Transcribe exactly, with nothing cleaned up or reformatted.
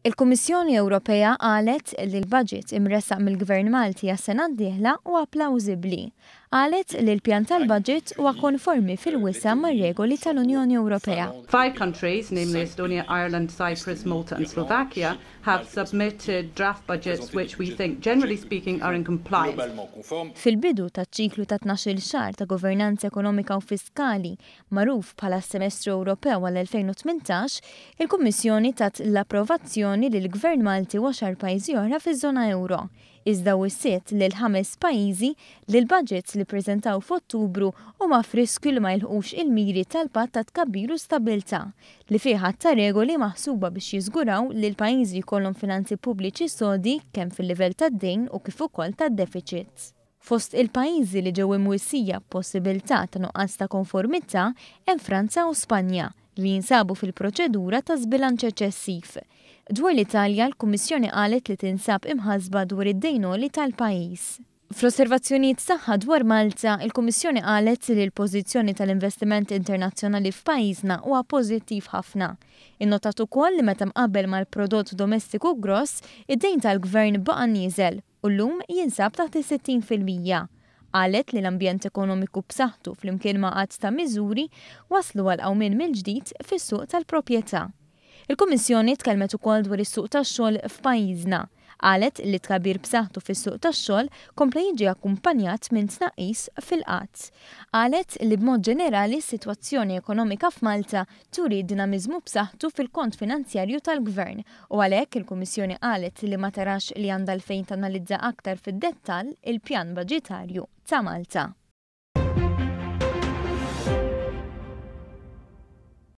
Il-Kummissjoni Ewropea qalet li l-budget imressaq mill-Gvern Malti għas-sena d-dieħla huwa plawżibbli. Qalet li l-pjan tal-budget huwa konformi fil-wisa' mar-regoli tal-Unjoni Ewropea. Five countries, namely Estonia, Ireland, Cyprus, Malta and Slovakia, have submitted draft budgets which we think, generally speaking, are in compliance. Fil-bidu taċ-ċiklu ta' tnax-il xahar ta' governanza ekonomika u fiskali magħruf bħala Semestru Ewropew għall-elfejn u tmintax, il-Kummissjoni tat l-approvazzjoni lill-Gvern Malti u għaxar pajjiżi oħra fiż-żona euro. Iżda wissiet lil ħames pajjiżi li l-budgets li preżentaw f'Ottubru huma f'riskju li ma jilħqux il-miri tal-Patt ta' Tkabbir u Stabbiltà, li fih ta' regoli maħsuba biex jiżguraw li l-pajjiżi jkollhom finanzi pubbliċi sodi kemm fil-livell tad-dejn u kif ukoll tad-deficits. Fost il-pajjiżi li ġew imwissija possibilità ta' nuqqas ta' konformità hemm Franza u Spanja, li jinsabu fil-proċedura ta' żbilanċ eċċessiv. Dwar l-Italja, l-Kummissjoni qalet li tinsab imħasba dwar id-dejn għoli tal-pajjiż. Fl-osservazzjonijiet tagħha dwar Malta, il-Kummissjoni qalet li l-pożizzjoni tal-investiment internazzjonali f'pajjiżna huwa pożittiv ħafna. Innotat ukoll li meta mqabbel mal-prodott domestiku gross, id-dejn tal-gvern baqa' nieżel u llum jinsab taħt is-sittin fil-mija. Qalet li l-ambjent ekonomiku b'saħħtu flimkien ma' għadd ta' miżuri waslu għal qawmien mill-ġdid fis-suq tal-proprjetà. Il-Kummissjoni tkellmet ukoll dwar is-suq tax-xogħol f'pajjiżna. Qalet li tkabbir b'saħħtu fis-suq tax-xogħol kompla jiġi akkumpanjat minn tnaqqis fil-qgħad. Qalet li b'mod ġenerali s-sitwazzjoni ekonomika f'Malta turi dinamiżmu b'saħħtu fil-kont finanzjarju tal-Gvern u għalhekk il-Kummissjoni qalet li ma tarax li għandha għalfejn tanalizza aktar fid-dettall il-pjan baġitarju ta' Malta.